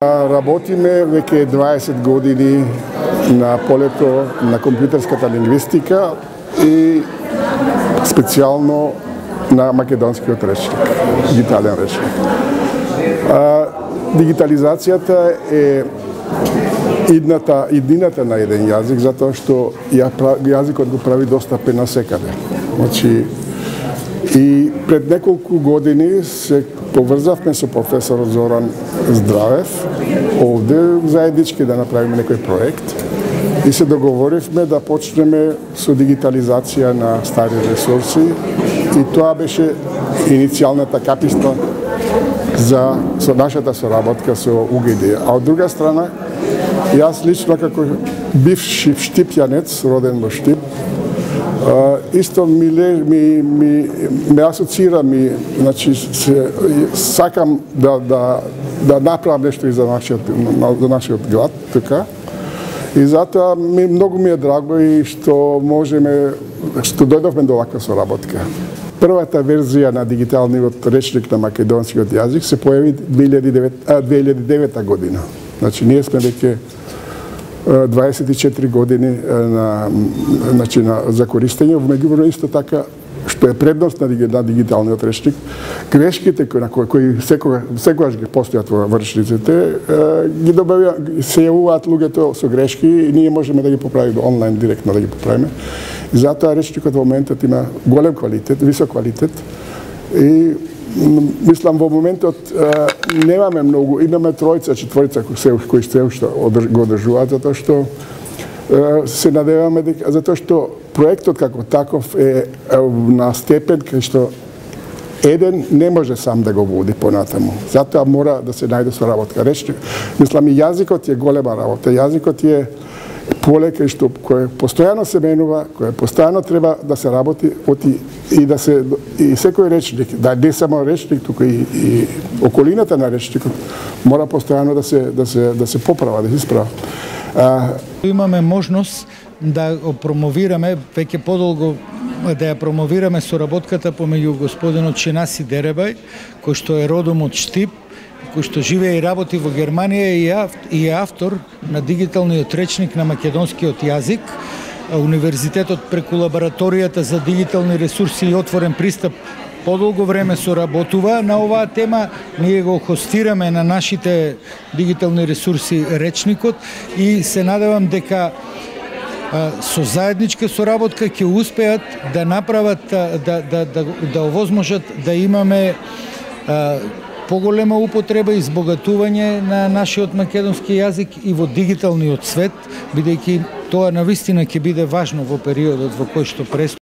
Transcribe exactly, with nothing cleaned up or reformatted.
Работиме веќе дваесет години на полето на компјутерската лингвистика и специјално на македонскиот речник, дигитален речник. А, дигитализацијата е идната, иднината на еден јазик, затоа што ја, јазикот го прави достапен на секаде. Значи, и пред неколку години се поврзавме со професорот Зоран Здравев овде заеднички да направиме некој проект и се договоривме да почнеме со дигитализација на стари ресурси и тоа беше иницијалната каписта за со нашата соработка со У Г Д. А од друга страна, јас лично како бивши штипјанец, роден во Штип, Uh, исто ми, ми, ми, ме асоцира ми, значи, се, сакам да, да, да направам нешто и за нашиот, за нашиот град, така. И затоа ми, многу ми е драго и што можеме, што дојдовме до ваква соработка. Првата верзија на дигиталниот речник на македонскиот јазик се појави две илјади и девета година. Значи, ние сме веќе дваесет и четири години на, значи, на, за користење, меѓувреме исто така, што е предност на, на дигиталниот речник, грешките кои, кои, кои секогаш, секогаш ги постојат во речниците, ги добавија, се јавуваат луѓето со грешки и ние можеме да ги поправиме онлайн, директно да ги поправиме. И затоа речникот во моментот има голем квалитет, висок квалитет и мислам во моментот е, немаме многу, имаме тројца, четворица кои се кои се уште го одржуваат затоа што е, се надеваме дека затоа што проектот како таков е, е на степен кај што еден не може сам да го води понатаму. Затоа мора да се најде соработка. Речник, мислам и јазикот е голема работа. Јазикот е поле кај што кој постојано се менува, кој постојано треба да се работи оти и да се и секој речник, да не само речник, туку и, и околината на речникот мора постојано да се да се да се поправа, да се исправа. А, имаме можност да го промовираме веќе подолго да ја промовираме соработката помеѓу господинот Шенаси Деребај, кој што е родом од Штип, кој што живее и работи во Германија и е автор на дигиталниот речник на македонскиот јазик. Универзитетот преку лабораторијата за дигитални ресурси и отворен пристап подолго време соработува на оваа тема. Ние го хостираме на нашите дигитални ресурси речникот и се надевам дека со заедничка соработка ќе успеат да направат да да да да овозможат да имаме поголема употреба и избогатување на нашиот македонски јазик и во дигиталниот свет, бидејќи тоа навистина ќе биде важно во периодот во кој што предстои.